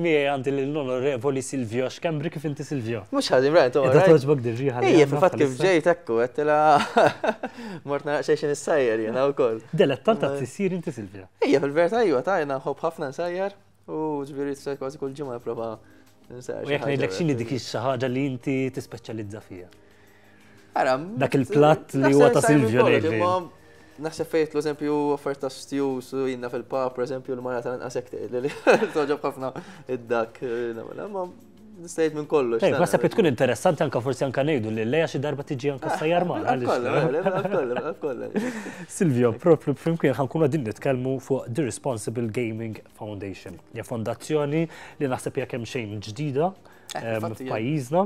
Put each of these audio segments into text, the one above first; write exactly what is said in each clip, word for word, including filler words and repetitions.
Miegħi għandi l-Onorevoli Silvio Schembri. Kif inti, Silvio? Mhux ħażin, Brian. Qiegħda togħġbok dir-riħa li Ejja, għandna fil-fatt kif bħalissa? ġejt ekku, għedtilha mort nara xejn issajjar jena wkoll. Dilettant ta' tisjir inti, Silvio? Ejja, fil-verità iva, ta' jena nħobb ħafna nsajjar u ġifieri tsajt kważi kull ġimgħa nipprova nsajjar. U jekk ngħidlek, x'inhi dik xi ħaġa li inti tispeċjalizza fiha? Ara, Dak il-platt li huwa ta' Silvio ngħidli. Naħseb fejt l-eżempju offerta stews u jinna fil-pub, per eżempju, l-mara tal-inqas hekk tgħidli li togħġob ħafna id-dak, ma nistajt minn kollox. Ej, naħseb li tkun interessanti anka forsi anka ngħidu li lejja xi darba tiġi anka ssajjar magħna. Kollha, kollha, kollha. Silvio, propju flimkien ħa nkunu qegħdin nitkellmu fuq The Responsible Gaming Foundation. Hija fondazzjoni li naħseb hija kemm xejn ġdida Eh, em, infatti, hija. f'pajjiżna.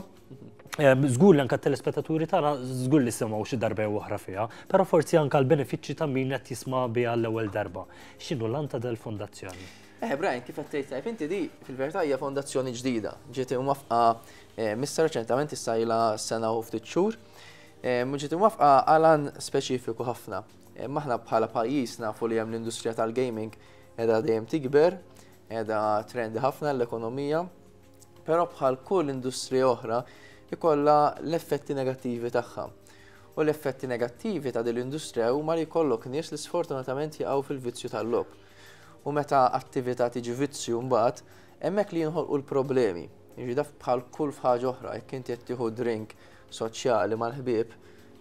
Em, Żgur li anka t-telespettaturi tagħna żgur li semgħu xi darba jew oħra fiha, però forsi anka l-benefiċċji ta' min qed jisma' biha l-ewwel darba. X'inhu l-għan ta' dal-fondazzjoni? Eh, Brian, kif qed tgħid tajb inti, di fil-verità hija fondazzjoni ġdida. Ġiet imwaffqa eh, missa reċentament, issa ilha sena u ftit xhur. Eh, Ġiet imwaffqa għal għan speċifiku ħafna. Eh, Aħna bħala pajjiż nafu li hemm l-industrija tal-gaming qiegħda dejjem tikber, qiegħda trendi ħafna l-ekonomija, però bħal kull industrija oħra ikollha l-effetti negattivi tagħha. U l-effetti negattivi ta' din l-industrija huma li jkollok nies li sfortunatament jaqgħu fil-vizzju tal-logħob. U meta attività tiġi vizzju mbagħad, hemmhekk li jinħolqu l-problemi. Jiġi daf bħal kull ħaġa oħra, jekk inti qed tieħu drink soċjali mal-ħbieb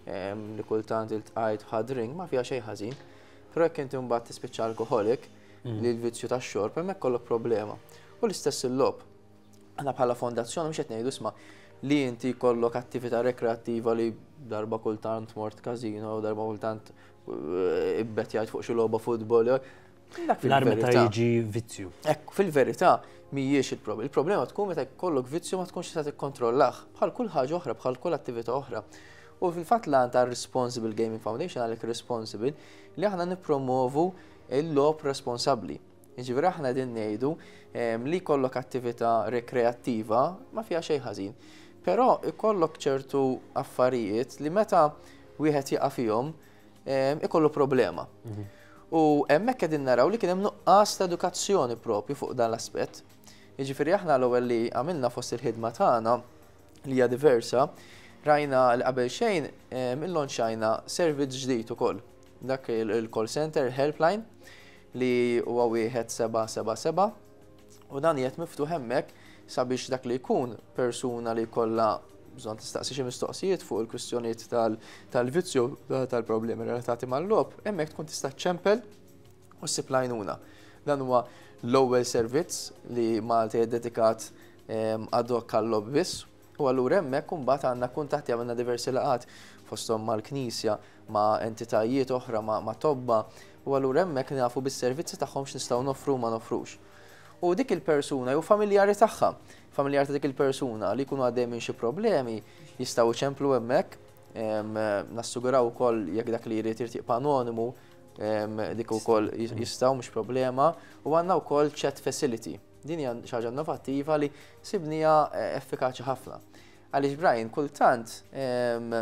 em, li kultant iltqajt ħa drink, ma fiha xejn ħażin. Però jekk inti mbagħad tispiċċa alkoholik, li l-vizzju tax-xorb, hemmhekk kollok problema. U l-istess il-logħob. Aħna bħala fondazzjoni mhux qed ngħidu, isma', li inti jkollok attività rekreattiva li darba kultant mort casino, darba kultant eh, ibbetjajt fuq xi logħba futbol. Dak L-agħar meta fil-verità. jiġi vizzju. Ekku, fil-verità mhijiex il-problema. Il-problema tkun meta jkollok vizzju ma tkunx tista' tikkontrollah bħal kull ħaġa oħra, bħal kull attività oħra. U fil-fatt l ta' Responsible Gaming Foundation, għalhekk responsible, li aħna nippromovu il-logħob responsabbli. Jiġifieri aħna din ngħidu em, li jkollok attività rekreattiva ma fiha xejn ħażin. Però ikollok ċertu affarijiet li meta wieħed jaqa' fihom em, ikollu problema. U hemmhekk qegħdin naraw li kien hemm nuqqas ta' edukazzjoni propju fuq dan l-aspett. Jiġifieri aħna l-ewwel li għamilna fost il-ħidma tagħna, li hija diversa, rajna li qabel xejn em, illonċajna servizz ġdid ukoll. Dak il- il-call center helpline li huwa wieħed seba' seba' seba u dan qiegħed miftuħ hemmhekk sabiex dak li jkun persuna li jkollha bżonn tistaqsi xi mistoqsijiet fuq il-kwistjonijiet tal- tal-vizzju, tal-problemi relatati mal-logħob, hemmhekk tkun tista' ċempel u ssib l-għajnuna. Dan huwa l-ewwel servizz li Malta hija dedikat em, ad hoc għal-logħob biss. U allura hemmhekk imbagħad għandna kuntatti, għamilna diversi laqgħat fosthom mal-Knisja, ma' entitajiet oħra, ma' ma' tobba, u allura hemmhekk nafu bis-servizzi tagħhom x'nistgħu noffru u ma nofrux. U dik il-persuna jew familjari tagħha, familjari ta' dik il-persuna li jkunu għaddej minn xi problemi, jistgħu iċemplu hemmhekk, em, nassuguraw ukoll jekk dak li jrid jibqa' anonimu, em, dik ukoll jistgħu, mhux problema, u għandna wkoll chat facility. Din hija xi ħaġa innovattiva li sibnija eh, effikaċi ħafna. Għaliex, Brian, kultant em,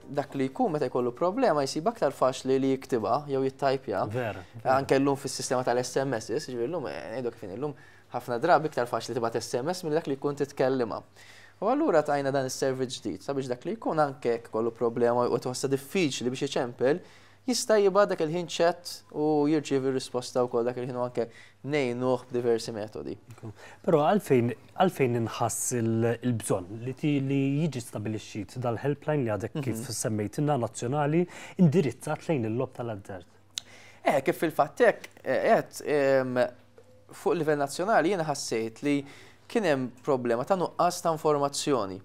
dak li jkun meta jkollu problema jsib aktar faċli li jiktibha jew jittajpja. Vera. Anke llum fis-sistema tal-S M S, ġifieri llum, eh, ngħidu kif illum ħafna drabi iktar faċli tibgħat S M S minn dak li jkun titkellima. U allura tajna dan is-servizz ġdid sabiex dak li jkun, anke jekk kollu problema u tħossha diffiċli biex iċempel, jista' jibgħat dak il-ħin chat u jirċievi risposta wkoll dak il-ħin u anke ngħinuh b'diversi metodi. Però għalfejn għalfejn inħass il-bżonn li ti li jiġi stabilixxit dal-helpline li għadek kif semmejtilna, nazzjonali, indirizzat lejn il-logħob tal-azzard? Eh, kif fil-fatt hekk, qed fuq livell nazzjonali jiena ħassejt li kien hemm problema ta' nuqqas ta' informazzjoni.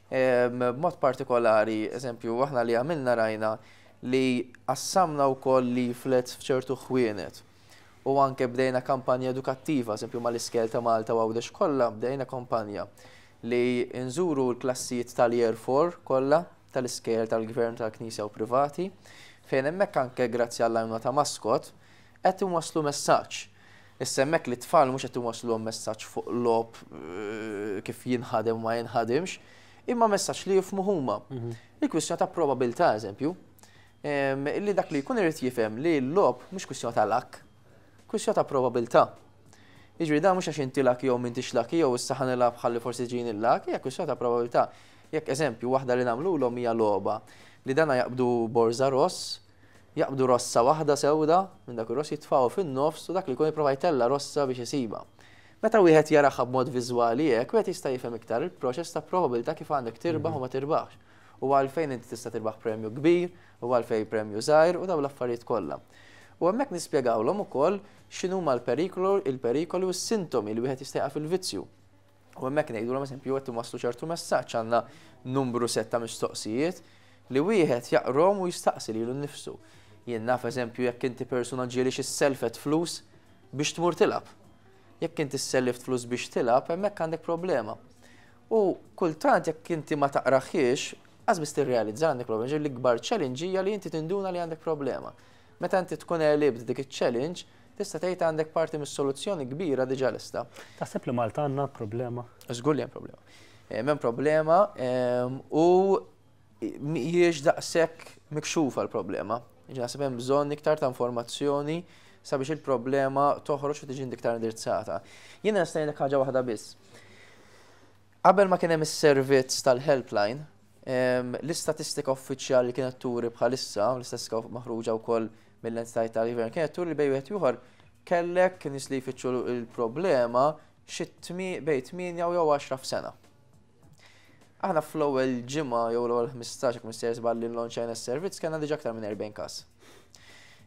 B'mod partikolari, eżempju, aħna li għamilna, rajna li qassamna wkoll leaflets f'ċertu ħwienet. U anke bdejna kampanja edukattiva, eżempju mal-iskejjel ta' Malta u Għawdex kollha bdejna kampanja li nżuru l-klassijiet tal-Year four kollha tal-iskejjel tal-gvern, tal-Knisja u privati, fejn hemmhekk anke grazzi għall-għajnuna ta' Mascot qed inwasslu messaġġ. Issa hemmhekk li tfal mhux qed inwasslu messaġġ fuq logħob eh, kif jinħadem u ma jinħadimx, imma messaġġ li jifhmu huma. Il-kwistjoni ta' probabilità, eżempju, em, li dak li jkun irid jifhem li l-logħob mhux kwistjoni ta' luck, kwistjoni ta' probabilità. Jiġri da mhux għax inti lucky jew m'intix lucky jew issa ħa nilgħab ħalli forsi ġini l-luck, hija kwistjoni ta' probabilità. Jekk eżempju waħda li nagħmluhom hija logħba li dana jaqbdu borza ross, jaqbdu rossa waħda sewda, minn dak ir-ross jitfgħu fin-nofs u dak li jkun jipprova jtella' rossa biex isiba. Meta wieħed jaraha b'mod viżwali hekk, wieħed jista' jifhem iktar il-proċess ta' probabilità kif għandek tirbaħ u ma tirbaħx. U għalfejn inti tista' tirbaħ premju kbir, u għalfejn premju żgħir u dawn l-affarijiet kollha. U hemmhekk nispjegawlhom ukoll x'inhuma l-perikolu, il-perikoli u s-sintomi li wieħed jista' fil-vizzju. U hemmhekk ngħidulhom, eżempju, qed waslu ċertu messaġġ, għandna numru set ta' mistoqsijiet li wieħed jaqrom u jistaqsi lilu nnifsu. Jien naf, eżempju, jekk inti persuna ġieli xi selfet flus biex tmur tilgħab. Jekk inti sellift flus biex tilgħab, hemmhekk għandek problema. U kultant jekk inti ma taqraħiex, qas biss tirrealizza għandek problema. Ġieli l-ikbar challenge hija li inti tinduna li għandek problema. Meta inti tkun għelibt dik iċ-challenge, tista' tgħid għandek parti mis-soluzzjoni kbira diġà lesta. Taħseb li Malta għandna problema? Żgur li hemm problema. Hemm problema u mhijiex daqshekk mikxufa l-problema. Naħseb hemm bżonn iktar ta' informazzjoni sabiex il-problema toħroġ u tiġi iktar indirizzata. Jiena nista' ngħidlek ħaġa waħda biss. Qabel ma kien hemm is-servizz tal-helpline, l-istatistika uffiċjali kienet turi bħalissa, l-istatistika maħruġa wkoll mill-entitajiet tal-gvern, kienet turi li bejn wieħed ieħor kellek nies li jfittxu il-problema xi bejn tmienja jew għaxra f'sena. Aħna fl-ewwel ġimgħa jew l-ewwel ħmistax, jekk m'iniex żball, li nlaunċajna s-servizz, kellna diġà aktar minn erbgħin każ.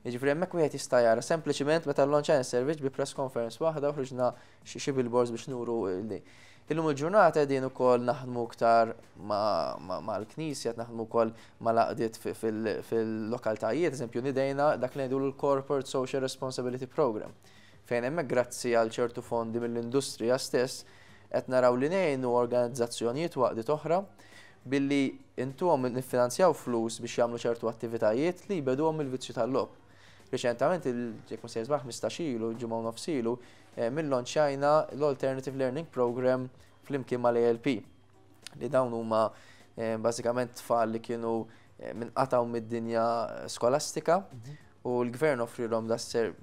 Jiġifieri hemmhekk wieħed jista' jara sempliċiment meta nlaunċajna s-servizz bi press conference waħda u ħriġna xi billboards biex nuru li. Illum il-ġurnata qegħdin ukoll naħdmu iktar mal-Knisja, naħdmu wkoll mal-għaqdiet fil-lokaltajiet, eżempju nidejna dak li ngħidu l-Corporate Social Responsibility Program, fejn hemmhekk grazzi għal ċertu fondi mill-industrija stess qed naraw li ngħinu organizzazzjonijiet u għaqdiet oħra billi intuhom niffinanzjaw flus biex jagħmlu ċertu attivitajiet li jbeduhom il-vizzju tal-logħob. Reċentament, jekk mhux żball, ħmistax ilu, ġimgħa u nofs ilu, illaunċjajna l-Alternative Learning Program flimkien mal-A L P. Li dawn huma bażikament tfal li kienu minqataw mid-dinja skolastika u l-gvern offrilhom da ser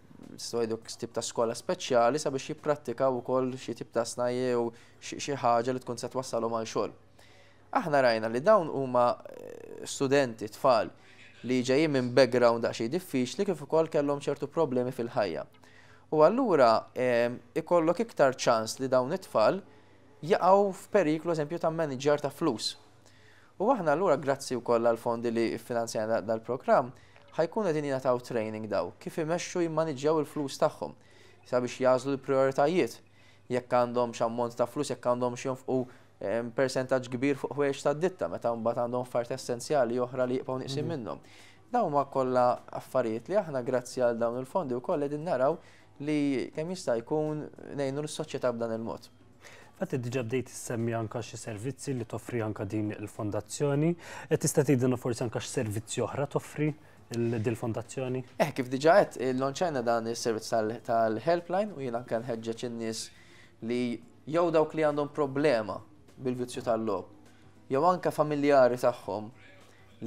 tip ta' skola speċjali sabiex jipprattikaw ukoll xi tip ta' snajja u xi ħaġa li tkun se twassalhom għal xogħol. Aħna rajna li dawn huma studenti, tfal li ġejjin minn background daqsxejn diffiċli kif ukoll kellhom ċertu problemi fil-ħajja. U allura ikollok iktar ċans li dawn it-tfal jaqgħu f'periklu, eżempju, ta' manager ta' flus. U aħna allura grazzi wkoll għal fondi li finanzjana dal-programm ħa jkun qegħdin jingħataw training daw kif imexxu jimmaniġġjaw il-flus tagħhom sabiex jagħżlu l-prioritajiet, jekk għandhom x'ammont ta' flus, jekk għandhom x'jonfqu persentaġġ kbir fuq ħwejjeġ ta' ditta meta mbagħad għandhom affarijiet essenzjali oħra li jibqgħu nieqsin mhm. minnhom. Dawn huma kollha affarijiet li aħna grazzi għal dawn il-fondi wkoll qegħdin naraw li kemm jista' jkun ngħinu l-soċjetà b'dan il-mod. Fatti diġa bdejt issemmi anka xi servizzi li toffri anka din il-fondazzjoni. E tista' tgħidilna forsi anka x'servizzi oħra toffri dil-fondazzjoni? Eh, kif diġa qed, illaunċajna dan is-servizz tal-helpline u jiena anke nħeġġeġ in-nies li jew dawk li għandhom problema bil-vizzju tal-logħob, jew anke familjari tagħhom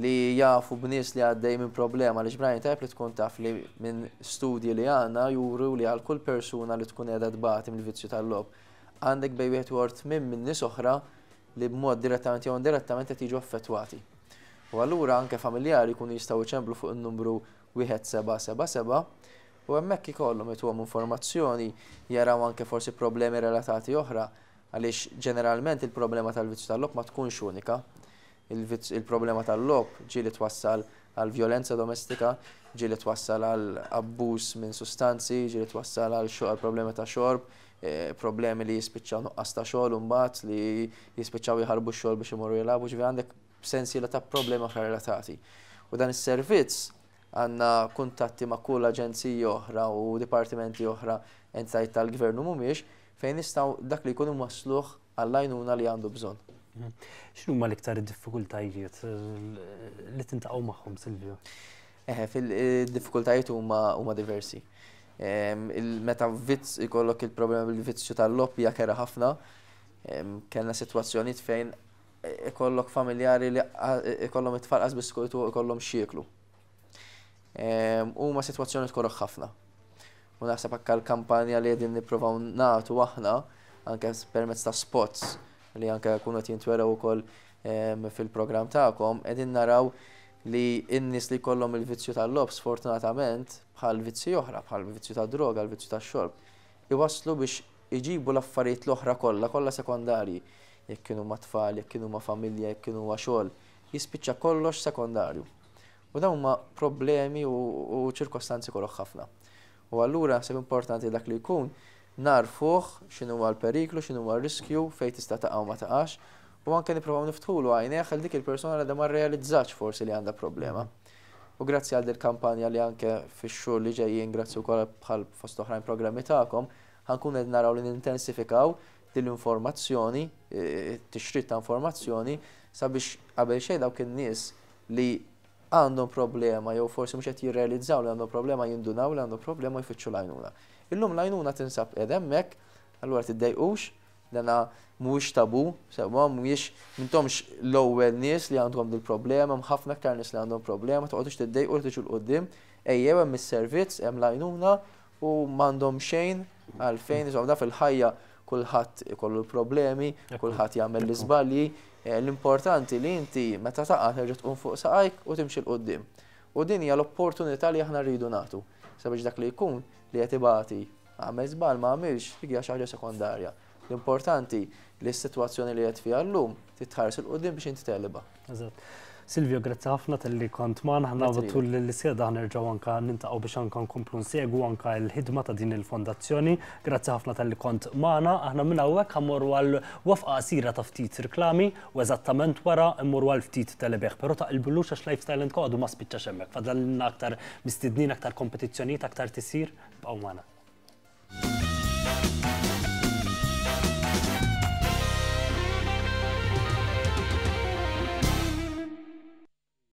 li jafu b'nies li għaddej minn problema li ġbrajn tajb li tkun taf li minn studji li għandna juru li għal kull persuna li tkun qiegħda tbati mill-vizzju tal-logħob għandek bejn wieħed u tmien minn nies oħra li b'mod direttament jew indirettament qed jiġu affettwati. U allura anke familjari jkunu jistgħu jċemplu fuq in-numru wieħed seba' seba' seba u hemmhekk ikollhom ituhom informazzjoni, jaraw anke forsi problemi relatati oħra, għaliex ġeneralment il-problema tal-vizzju tal-logħob ma tkunx unika. Il-problema tal-logħob ġieli twassal għal violenza domestika, ġieli twassal għal abbuż minn sustanzi, ġieli twassal għal għal problemi ta' xorb, eh, problemi li jispiċċaw nuqqas ta' xogħol mbagħad li jispiċċaw jħarbu x-xogħol biex imorru jilagħbu, ġifieri għandek sensiela ta' problemi oħra relatati. U dan is-servizz għandna kuntatti ma' kull aġenziji oħra u dipartimenti oħra, entitajiet tal-gvern u mhumiex, fejn nistgħu dak li jkunu wasluh għall-għajnuna li għandu bżonn. Mhm. X'inhu huma l-iktar diffikultajiet eh, li tiltaqgħu magħhom, Silvio? Eh, fil-diffikultajiet huma huma diversi. Meta vizz ikollok il-problema bil-vizzju tal-logħob hija kerha ħafna. Kellna sitwazzjonijiet fejn ikollok familjari li ikollhom it-tfal qas biss ikollhom x'jieklu. Huma sitwazzjoni tkorroħ ħafna. U naħseb anke l-kampanja li qegħdin nippruvaw nagħtu aħna anke permezz ta' spots li anke jkunu qed jintwerew ukoll fil-programm tagħkom, qegħdin naraw li n-nies li jkollhom il-vizzju tal-logħob, sfortunatament, bħal vizzji oħra, bħal vizzju ta' droga, l-vizzju tax-xorb, iwaslu biex iġibu l-affarijiet l-oħra kollha, kollha sekondarji. Jekk kienu ma' tfal, jekk kienu ma' familja, jekk kienu ma' xogħol, jispiċċa kollox sekondarju. U dawn huma problemi u ċirkostanzi koroh ħafna. U allura naħseb importanti dak li jkun narfuh x'inhu l-periklu, x'inhu r-riskju, fejn tista' taqa' u ma taqax, u anke nippruvaw niftħulu għajnejh għal dik il-persuna li ma rrealizzax forsi li għandha problema. U grazzi għal dil-kampanja li anke fix-xhur li ġejjin, grazzi wkoll bħal fost oħrajn programmi tagħkom, ħa nkun qed naraw li nintensifikaw din l-informazzjoni, e, tixrid ta' informazzjoni, sabiex qabel xejn dawk in-nies li għandhom problema jew forsi mhux qed jirrealizzaw li għandhom problema jindunaw li għandhom problema, jfittxu l-għajnuna. Illum l-għajnuna tinsab qiegħda hemmhekk, allura tiddejqux, dana mhuwiex tabu, sewwa, mhuwiex, m'intomx l-ewwel nies li għandhom dil-problema, hemm ħafna aktar nies li għandhom problema, toqgħodux tiddejqu li tiġu 'l quddiem, ejjew, hemm is-servizz, hemm l-għajnuna u m'għandhom xejn għalfejn, insomma, da fil-ħajja kulħadd ikollu l-problemi, kulħadd jagħmel l-iżbalji, eh, l-importanti li inti meta taqa' terġa' tqum fuq saqajk u timxi 'l quddiem. U din hija l-opportunità li aħna rridu nagħtu sabiex dak li jkun li qed ibati, għamel żball, ma għamilx, dik hija xi ħaġa sekondarja. L-importanti li s-sitwazzjoni li qed fiha llum titħares 'il quddiem biex inti tegħlibha. Eżatt. Silvio, grazzi ħafna talli kont magħna. Ħna Grazzi. tul l-iskeda nerġgħu anka niltaqgħu biex anka nkomplu nsegwu anka l-ħidma ta' din il-fondazzjoni. Grazzi ħafna talli kont magħna. Aħna minn hawnhekk ħa mmorru għal waqfa qasira ta' ftit reklami u eżattament wara mmorru għal ftit telebieħ. Però taqilbulux għax Lifestyle and Co għadu ma spiċċax hemmhekk. Fadlalna aktar mistednin, aktar kompetizzjonijiet, aktar tisir. Bqgħu magħna.